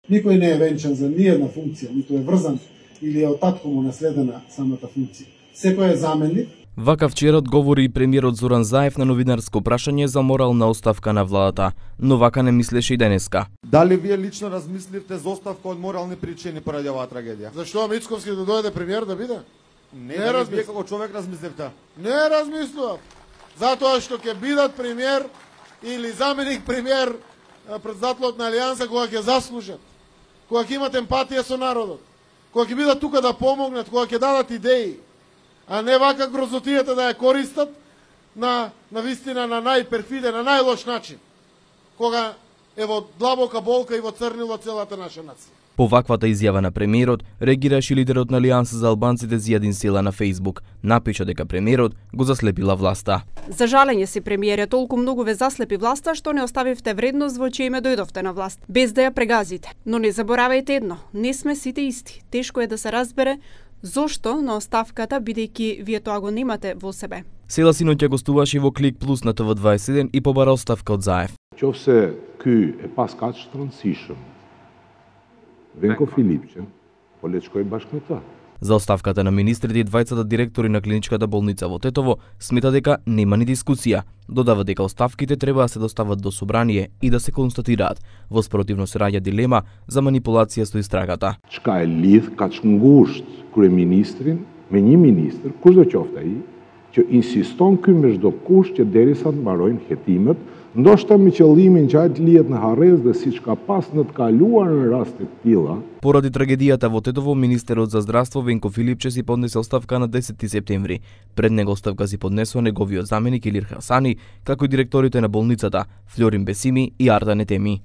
Никој не е венчан за ниједна функција, ниту е врзан или е од татко му наследена самата функција. Секој е заменик. Вака вчера одговори и премиерот Зоран Заев на новинарско прашање за морална оставка на владата, но вака не мислеше и денеска. Дали вие лично размисливте за оставка од морални причини поради оваа трагедија? Зашто Мицковски да дојде премиер да биде? Не вие како човек размисливте. Не размислував. Затоа што ќе бидат премиер или заменик премиер председателот на Алијанса кога ќе заслужат, кога ќе имат емпатија со народот, кога ќе бидат тука да помогнат, кога ќе дадат идеи, а не вака грозотијата да ја користат на вистина на најперфиден, на најлош начин, кога е во длабока болка и во црнило целата наша нација. По ваквата изјава на премиерот, реагираше лидерот на Алијанса за албанците Зијадин Села на Facebook. Напиша дека премиерот го заслепила власта. За жалење си, премиере, толку многу ве заслепи власта што не оставивте вредност во чие име дојдовте на власт, без да ја прегазите. Но не заборавајте едно, не сме сите исти. Тешко е да се разбере зошто на оставката, бидејќи вие тоа го немате во себе. Села синоќа гостуваше во Клик Плюс на ТВ21 и побара оставка од Заев. Qofse ky e pas kaq shtrëndësishëm, Венко Филипче, по le të shkoj bashkë me ta. За оставката на министрите и двајцата директори на клиничката болница во Тетово смета дека нема ни дискусија. Додава дека оставките треба да се достават до собрание и да се констатираат. Во спротивно се раѓа дилема за манипулација со истрагата. Çka e lidh kaq ngushtë kryeministrin me një ministër, kushdo qoftë ai, që insiston ky me çdo kusht që derisa të mbarojnë hetimet, ndoshta me qëllimin që ai të lihet në harrez dhe siç ka pas në të kaluar në raste të tilla. Поради трагедијата во Тетово, министерот за здравство Венко Филипче си поднесе оставка на 10 септември. Пред него оставка си поднесува неговиот заменик Илир Хасани, како и директорите на болницата Флорин Бесими и Ардан Етеми.